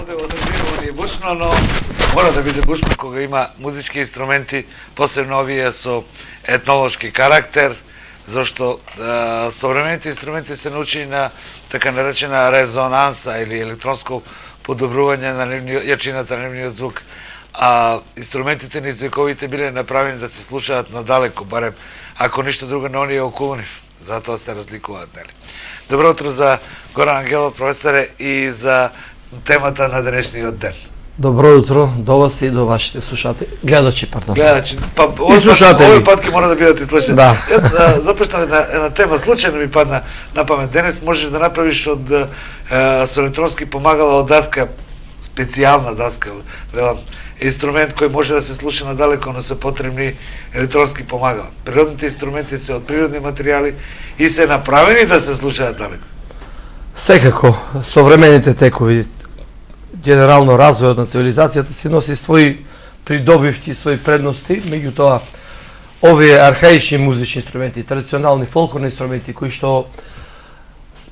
овде во Средина е бушно, но мора да биде бушно кога има музички инструменти, посебно овие со етнолошки карактер, зашто современите инструменти се научени на така наречена резонанса или електронско подобрување на јачината на нивниот звук, а инструментите низ вековите биле направени да се слушаат надалеку, барем ако ништо друго на оние околу нив. Затоа се разликуваат, нели? Добро утро за Горан Ангелов, професоре, и за темата на денешниот ден. Добро утро до вас и до вашите слушатели. Гледачи, пардон. Гледачи, па овој пат ќе мора да бидат и слушатели. Да. Започнав една тема, случајно ми падна на памет. Денес можеш да направиш од со електронски помагала од даска, специјална даска, велам, инструмент кој може да се слуша надалеку, но се потребни електронски помагала. Природните инструменти се од природни материјали и се направени да се слушаат далеку. Секако, современите текови, генерално развојот на цивилизацијата си носи своји придобивки, своји предности, меѓутоа овие архаични музични инструменти, традиционални фолклорни инструменти кои што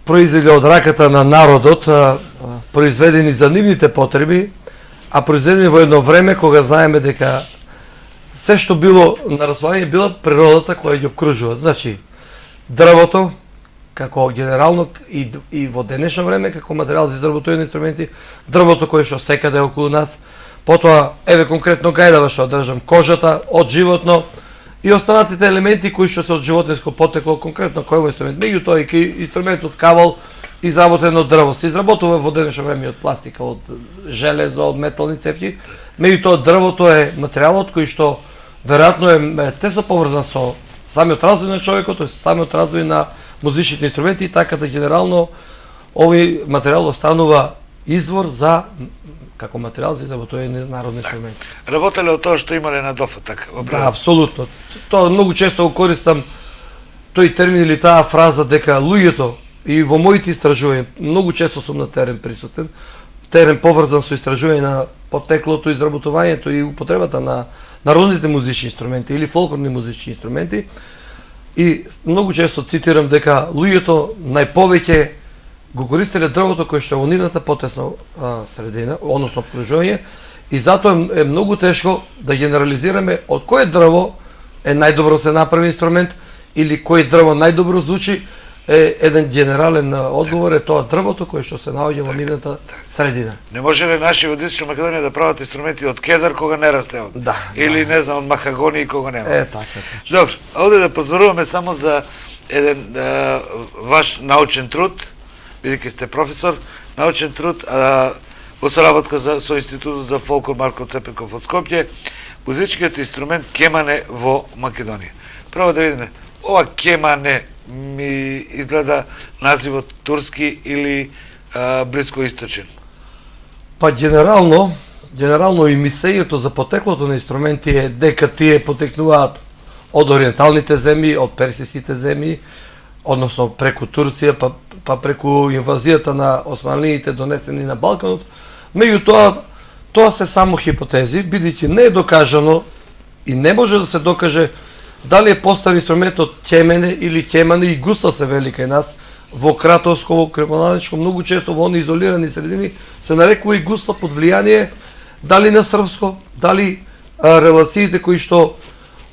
произведени од раката на народот, произведени за нивните потреби, а произведени во едно време кога знаеме дека се што било на располагање била природата која ги обкружува. Значи, дрвото како генерално и во денешно време како материјал за изработување на инструменти, дрвото кое што секаде околу нас, потоа еве конкретно гајдава што држам, кожата од животно и останатите елементи кои што се од животинско потекло, конкретно кој инструмент. Меѓутоа и инструментот кавал изработен од дрво се изработува во денешно време од пластика, од железо, од метални цевки. Меѓутоа дрвото е материјалот кој што веројатно е тесно поврзан со самиот развој на човекот, тоест самиот развој на музичните инструменти, така да генерално овој материјал останува извор за како материјал за изработување на народни инструменти. Работеле од тоа што имале на дофатак? Да, апсолутно. Тоа многу често го користам тој термин или таа фраза дека луѓето и во моите истражувања многу често сум на терен присутен, терен поврзан со истражување на потеклото, изработувањето и употребата на народните музични инструменти или фолклорни музични инструменти. И многу често цитирам дека луѓето најповеќе го користеле дрвото кое што е во нивната потесна средина, односно обкружување, и затоа е многу тешко да генерализираме од кое дрво е најдобро се направи инструмент или кој дрво најдобро звучи. Еден генерален одговор е тоа дрвото кое што се наоѓа во нивната средина. Не може ли наши од Источна Македонија да прават инструменти од кедар кога не расте од? Да. Или не знам од махагони кога нема. Така. Добро, овде да позборуваме само за еден ваш научен труд, бидејќи сте професор, научен труд во соработка со Институтот за фолклор Марко Цепенков од Скопје, музичкиот инструмент кемане во Македонија. Прво да видиме, ова кемане ми изгледа називот турски или блискоисточен? Па генерално и мислењето за потеклото на инструменти е дека тие потекнуваат од ориенталните земји, од персиските земји, односно преку Турција, па преку инвазијата на османлиите донесени на Балканот. Меѓутоа, тоа се само хипотези, бидејќи не е докажано и не може да се докаже дали е постар инструментот кемене или кемане, и гуса се вели кај нас, во Кратовско, во Крепоналичко, многу често во оние изолирани средини се нарекува и гуса под влијание дали на српско, дали релациите кои што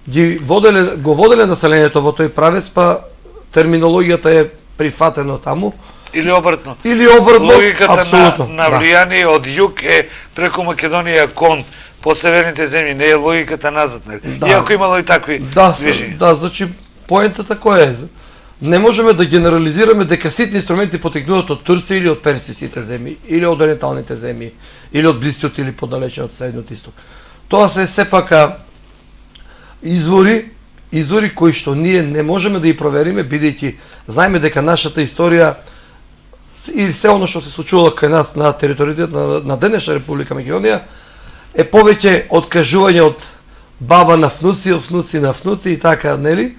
го воделе населението во тој правец, па терминологијата е прифатено таму. Или обратно. Логиката апсолутно, на влијание од југ е преку Македонија кон по северните земји, не е логиката назад, нели? Иако имало и такви движења. Да, значи поентата која е? Не можеме да генерализираме дека сите инструменти потекнуваат од Турција или од персиските земји, или од ориенталните земји, или од блискиот или поддалечниот Средниот Исток. Тоа се сепак извори кои што ние не можеме да ги провериме, бидејќи знаеме дека нашата историја и се оно што се случувало кај нас на територијата на денешна Република Македонија е повеќе откажување од баба на внуци, од внуци на внуци и така, нели?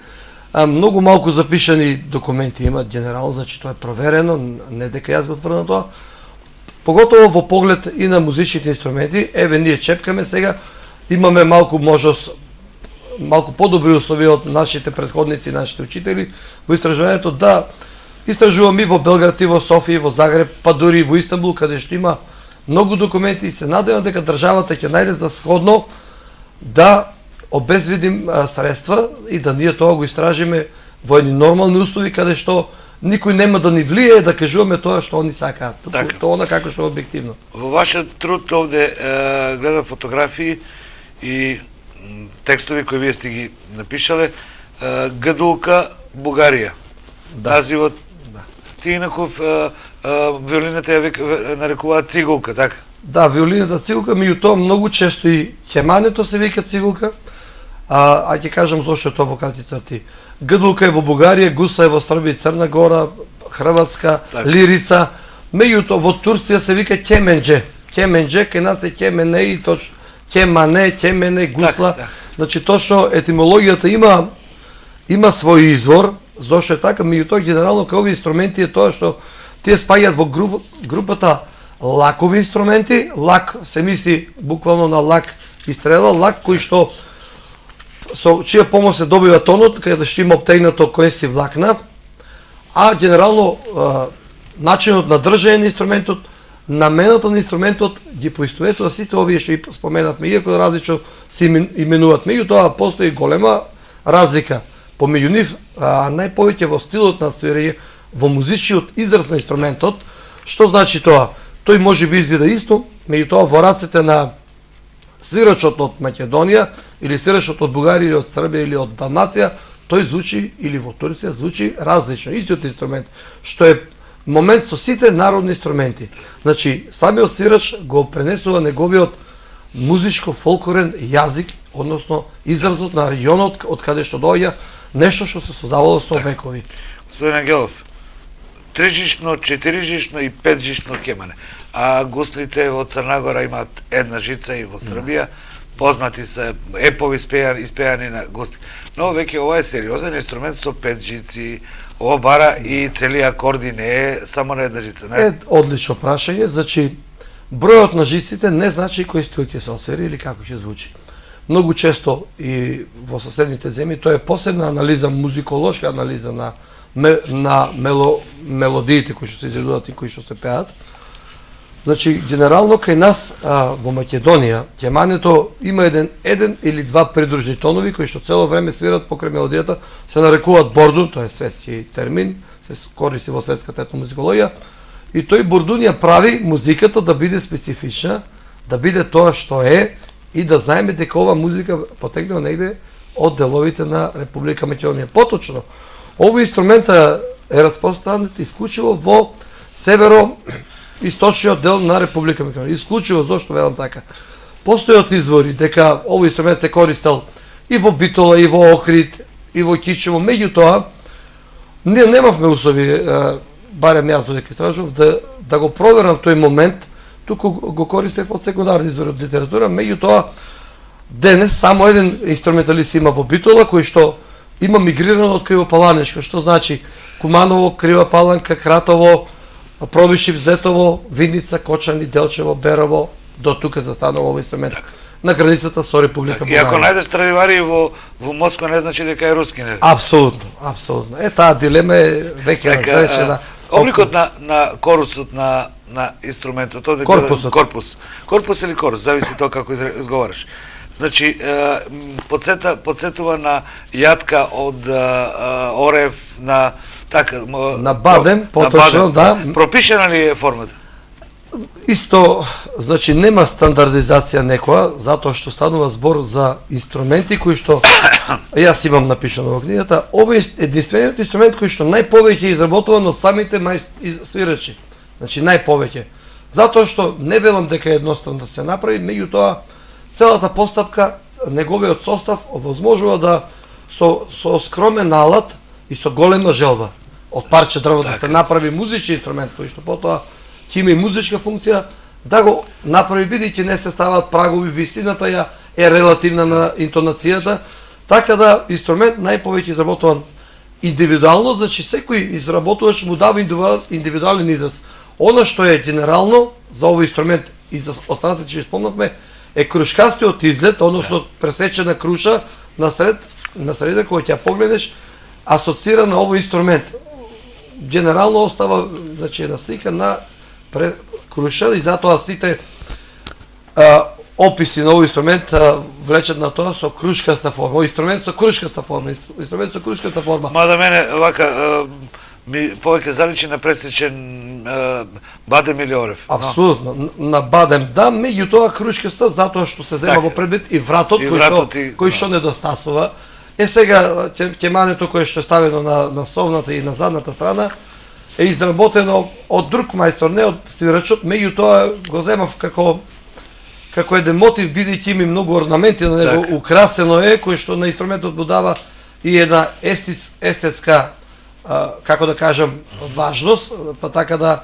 Многу малку запишани документи имат генерално, значи тоа е проверено, не дека јас го тврдам тоа. Поготово во поглед и на музичните инструменти, еве ние чепкаме сега, имаме малку можност, малку подобри услови од нашите претходници, нашите учители во истражувањето, да истражувам и во Белград, и во Софија, и во Загреб, па дури и во Истанбул, каде што има многу документи и се надевам дека државата ќе најде за сходно да обезбедим средства и да ние тоа го истражиме во едни нормални услови каде што никој нема да ни влие да кажуваме тоа што они сакаат. Тоа како што е објективно. Во вашиот труд овде гледам фотографии и текстови кои вие сте ги напишале, Гадулка Бугарија. Називот. Ти инаков виолината ја нарекуваат цигулка, така? Да, виолината цигулка, меѓутоа многу често и ќемането се вика цигулка. А ќе кажам зошто тоа во кратки црти. Гадулка е во Бугарија, гуса е во Србија, Црна Гора, Хрватска, лирица. Меѓутоа во Турција се вика ќемендже. Ќемендже, кај нас е ќемене и точно ќемене, гусла. Значи точно етимологијата има свој извор, зошто е така, меѓутоа генерално кај овие инструменти е тоа што тие спаѓаат во групата лакови инструменти. Лак се мисли буквално на лак и стрела, лак кој што со чија помош се добива тонот, каде што има обтегнато конски влакна, а генерално начинот на држање на инструментот, намената на инструментот ги поистоветува сите овие што ги споменавме, иако различно се именуваат. Меѓутоа постои голема разлика помеѓу нив, а најповеќе во стилот на свирење, во музичниот израз на инструментот. Што значи тоа? Тој може би изгледа исто, меѓутоа во рацете на свирачот од Македонија или свирачот од Бугарија или од Србија или од Далмација, тој звучи, или во Турција звучи различно, истиот инструмент, што е момент со сите народни инструменти. Значи, самиот свирач го пренесува неговиот музичко-фолклорен јазик, односно изразот на регионот од каде што доаѓа, нешто што се создавало со векови. Господин Ангелов, трижишно, четирижишно и петжишно ќемане. А гуслите во Црна Гора имаат една жица и во Србија, познати се епови испејани на гусли. Но веќе ова е сериозен инструмент со 5 жици, ова бара и цели акорди, не е само на една жица. Не? Одлично прашање, значи бројот на жиците не значи кој стил ќе се освири или како ќе звучи. Многу често и во соседните земји тоа е посебна анализа, музиколошка анализа на мелодиите кои што се изведуваат и кои што се пеат. Значи, генерално кај нас во Македонија, ќемането има еден или два придружни тонови кои што цело време свират покрај мелодијата, се нарекуваат бордун, тоа е светски термин, се користи во светската етномузикологија, и тој бордун ја прави музиката да биде специфична, да биде тоа што е и да знаеме дека ова музика потекнува негде од деловите на Република Македонија. Поточно, овој инструмент е распространет исклучиво во северо-источниот дел на Република Македонија. Исклучиво, зошто велам така? Постојат извори дека овој инструмент се користел и во Битола, и во Охрид, и во Кичево. Меѓутоа, ние немавме услови, барем јас додека истражував, да го проверам тој момент, туку го користев од секундарни извори од литература. Меѓутоа, денес само еден инструменталист има во Битола, кој што има мигрирано од Кривопаланешко, што значи Куманово, Крива Паланка, Кратово, Пробишип, Зетово, Видница, Кочани, Делчево, Берово, до тука застанува овој инструмент. На границата со Република Бугарија. И ако најдеш Страдивари во Москва, не значи дека е руски, не? Апсолутно, апсолутно. Таа дилема е веќе разрешена. Обликот на корусот на инструментот, корпус или корус, зависи тоа како изговараш. Значи, подсетува на јатка од орев, на така... На бадем, поточно, да. Пропишена ли е формата? Исто, значи, нема стандардизација некоја, затоа што станува збор за инструменти кои што јас имам напишано во книгата. Овој е единствениот инструмент кој што најповеќе е изработуван од самите свирачи. Значи, најповеќе. Затоа што не велам дека е едноставно да се направи, меѓутоа целата постапка, неговиот состав овозможува да со скромен алат и со голема желба од парче дрво да се направи музички инструмент кој што потоа ќе има и музичка функција, да го направи, бидејќи не се ставаат прагови, висината ја е релативна на интонацијата, така да инструмент најповеќе изработуван индивидуално, значи секој изработувач му дава индивидуален израз. Она што е генерално за овој инструмент и за останатите што спомнавме е крушкастиот изглед, односно пресечена круша на средина која ќе погледнеш, асоцира на овој инструмент. Генерално остава, значи, една слика на Круша и затоа сите описи на овој инструмент влечат на тоа со крушкаста форма. Овој инструмент со крушкаста форма. Мада мене вака ми повеќе заличи на престичен бадем или орев. Апсолутно, на бадем да, меѓутоа крушкаста затоа што се зема во предвид и вратот кој што недостасува. Сега ќемането кое што е ставено на совната и на задната страна е изработено од друг мајстор, не од свирачот, меѓутоа го земав како еден мотив, бидејќи има многу орнаменти на него, украсено е, кој што на инструментот му дава и една естетска, како да кажам, важност, па така да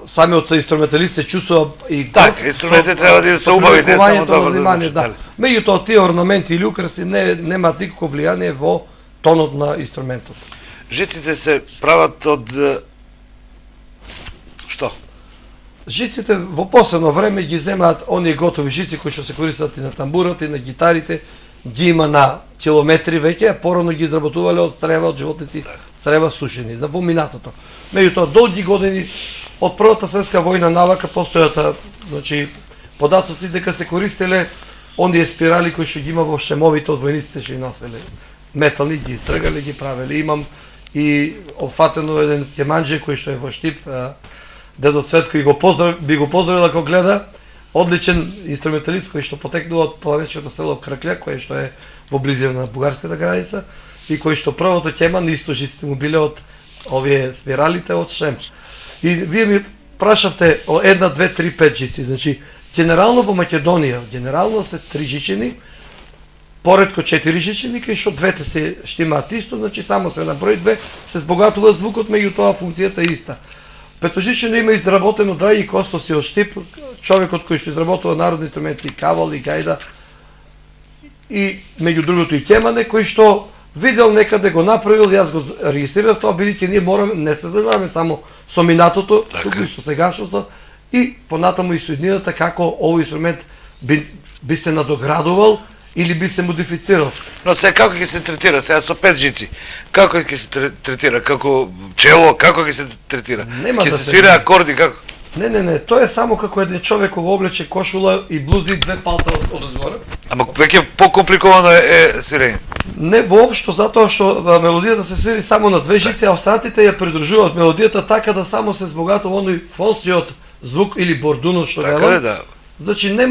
самиот инструменталист се чувствува и така, инструментите треба да се убави, не само добро да звучи. Меѓутоа тие орнаменти или украси немаат никакво влијание во тонот на инструментот. Жиците се прават од што? Жиците во последно време ги земаат оние готови жици кои што се користат и на тамбурот и на гитарите, ги има на километри веќе, а порано ги изработувале од црева, од животници, црева сушени, во минатото. Меѓутоа долги години од Првата светска војна навака постојат, значи податоци дека се користеле оние спирали кои што ги има во шемовите од војниците што ги носеле. Метални ги истргале, ги правеле. Имам и опфатено еден кеманџе кој што е во Штип, дедо Светко и би го поздравил ако гледа, одличен инструменталист кој што потекнува од планечкото село Кракља, кое што е во близина на бугарската граница и кој што првото кеман исто жиците му биле од овие спиралите од Шем. И вие ми прашавте о 1, 2, 3, 5 жици. Значи, генерално во Македонија, генерално се 3 жичени, поредко 4 жичени, кај што двете се штимаат исто, значи само се наброи 2, се збогатува звукот, меѓутоа функцијата е иста. Петожичено има изработено Драги Костоси од Штип, човекот кој што изработува народни инструменти, кавал и гајда, и меѓу другото и кемане, кој што видел некаде го направил, јас го регистрирав тоа, бидејќи ние мораме, не се занимаваме само со минатото, туку и со сегашното, и понатаму и со иднината како овој инструмент би се надоградувал или би се модифицирал. Но се како ќе се третира сега со 5 жици? Како ќе се третира? Како чело, како ќе се третира? Ќе се свира акорди како? Не, тоа е само како еден човек кој облече кошула и блузи и 2 палта одозгоре. Ама веќе покомпликовано е свирење. Не воопшто, затоа што мелодијата се свири само на 2 жици, а останатите ја придружуваат мелодијата така да само се збогатува оној фонсиот звук или бордунот што велам. Да. Значи не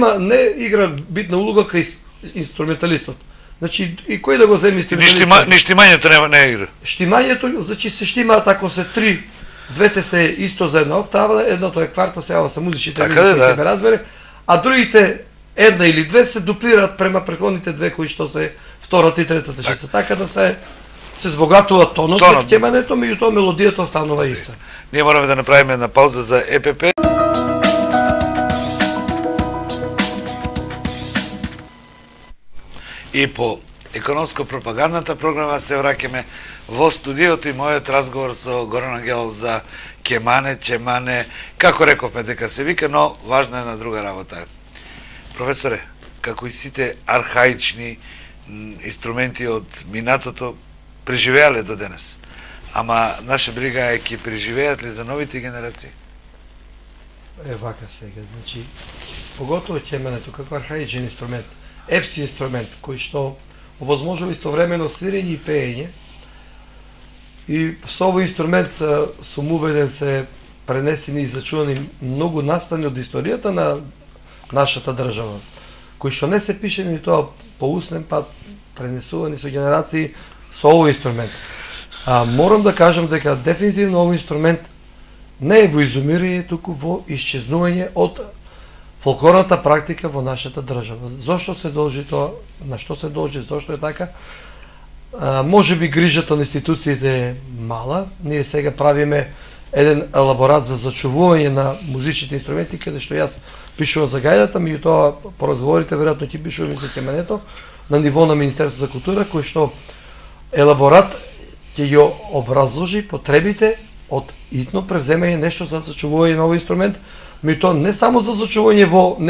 игра битна улога кај инструменталистот. Значи и кој да го земи инструменталистот? Ни штимањето не игра. Штимањето, значи се штимаат ако се 3, двете се исто за една октава, едното е кварта, сега се музичите ќе ме разбере, а другите една или 2 се дуплираат према претходните 2 кои што се втората и третата жица, така да се збогатува тонот од кемането, меѓутоа мелодијата останува иста. Ние мораме да направиме една пауза за ЕПП. И по економско-пропагандната програма се враќаме во студиото и мојот разговор со Горан Ангелов за кемане, чемане, како рековме дека се вика, но важна е на друга работа. Професоре, како и сите архаични инструменти од минатото преживеале до денес, ама наша брига е ќе преживеат ли за новите генерации? Вака сега, значи, поготово кемането како архаичен инструмент, епси инструмент, кој што овозможува истовремено свирење и пеење, и со овој инструмент сум убеден се пренесени и зачувани многу настани од историјата на нашата држава, кои што не се пишени и тоа по устен пат, пренесувани со генерации со овој инструмент. Морам да кажам дека дефинитивно овој инструмент не е во изумирање, туку во исчезнување од фолклорната практика во нашата држава. Зошто се должи тоа, на што се должи, зошто е така? Може би грижата на институциите е мала. Ние сега правиме еден елаборат за зачувување на музичните инструменти, каде што јас пишувам за гајдата, меѓутоа по разговорите веројатно ќе пишувам и за кемането на ниво на Министерство за култура, кој што елаборат ќе ја образложи потребите од итно превземање нешто за зачувување на овој инструмент, меѓутоа не само за зачувување во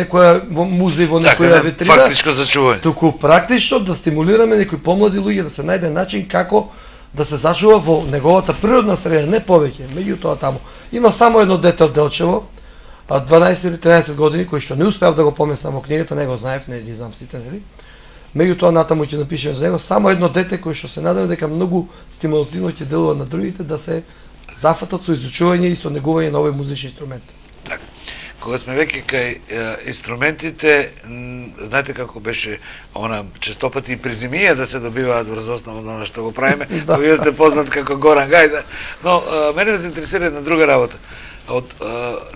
музеј, во некоја витрина, фактичко зачување, туку практично да стимулираме некои помлади луѓе да се најде начин како да се зачува во неговата природна среда, не повеќе. Меѓутоа таму има само едно дете од Делчево, 12 или 13 години, кои што не успеав да го поместам во книгата, не го знаев, не ги знам сите, нели? Меѓутоа натаму ќе напишеме за него само едно дете кој што се надевам дека многу стимулативно ќе делува на другите да се зафатат со изучување и со негување на овој музични инструмент. Така. Кога сме веќе кај инструментите, знаете како беше она честопати и призимија да се добиваат врз основа на она што го правиме, вие сте познат како Горан Гајда, но мене ме се интересира една друга работа.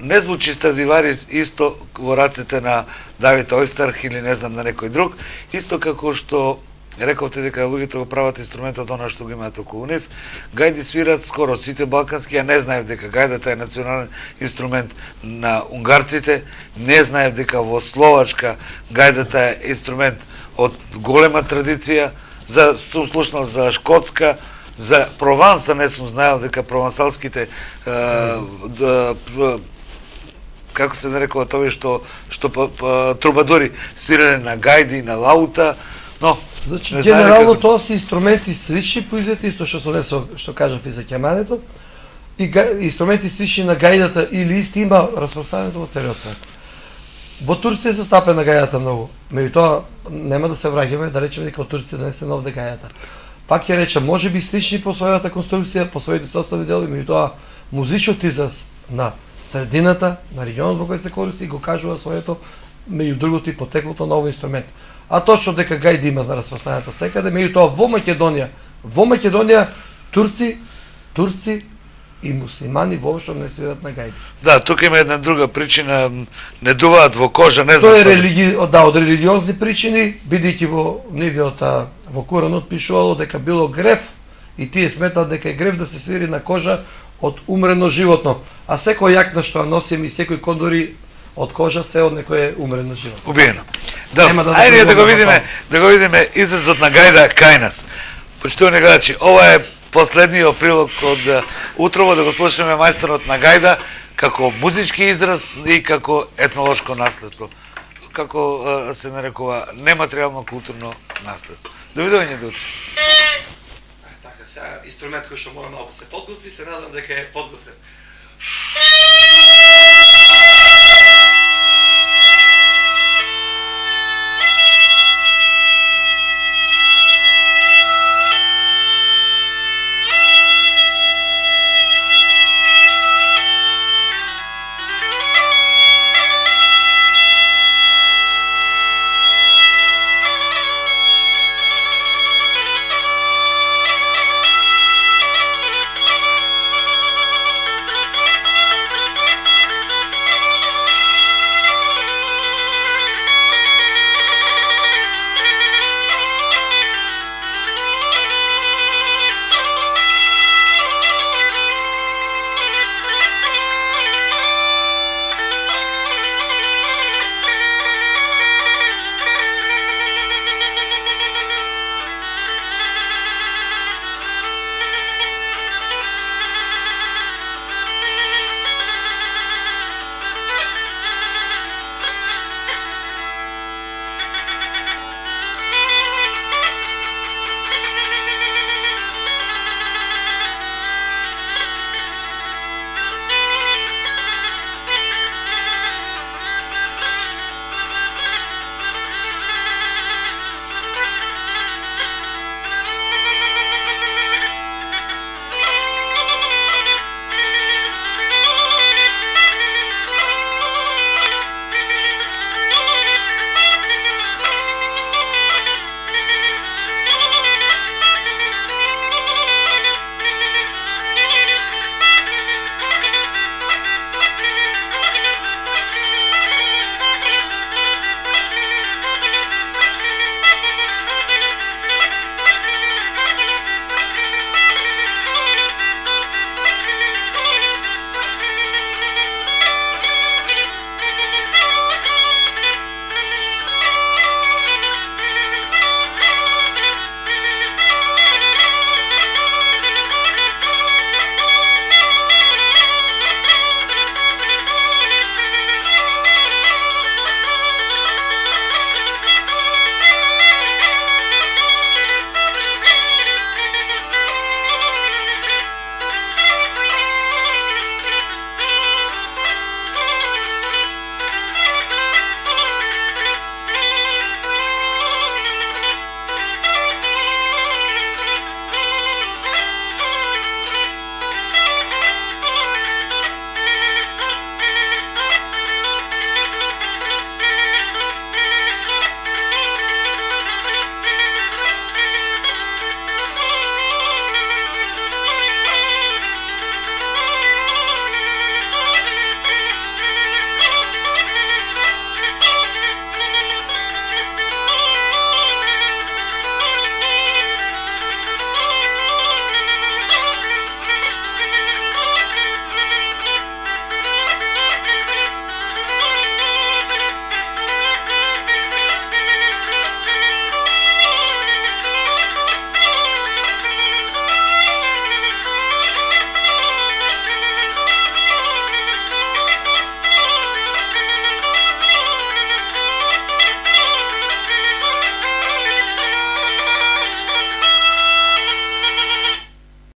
Не звучи Страдиварис исто во рацете на Давид Ойстарх или не знам на некој друг, исто како што рековте дека луѓето го прават инструментот она што го имаат околу нив. Гајди свират скоро сите балкански, а не знаев дека гајдата е национален инструмент на унгарците, не знаев дека во Словачка гајдата е инструмент од голема традиција, сум слушнал за Шкотска, за Прованса не сум знаел дека провансалските како се нарекува тоа што трубадори свирале на гајди, на лаута, но значи генерално тоа се инструменти слични произведени, исто што кажав и за ќемането, и инструменти слични на гајдата или исти има распространето во целиот свет. Во Турција се стапена гајдата многу, меѓутоа нема да се враќаме да речеме дека во Турција да не се новде гајдата. Пак ќе речем, може би слични по својата конструкција, по своите составни делови, меѓутоа музичот израз на средината, на регионот во кој се користи, го кажува своето, меѓу другото и потеклото на овој инструмент. А точно дека гајди има на распространето секаде, меѓутоа во Македонија турци и муслимани воопшто не свират на гајди. Да, тука има една друга причина, не дуваат во кожа, не знам. Тоа е од религиозни причини, бидејќи во нивиот во Куранот пишувало дека било грев и тие сметаат дека е грев да се свири на кожа од умрено животно, а секој јакна што носиме и секој кондори од кожа се од некој умрено животно. Убиено. Да, ајде да го видиме изразот на гајда кај нас. Почитувани гледачи, ова е последниот прилог од утрово, да го слушаме мајсторот на гајда како музички израз и како етнолошко наследство, како се нарекува нематеријално културно наследство. Довидување до утре. Така, сега инструмент кој што мора малку се подготви, се надам дека е подготвен.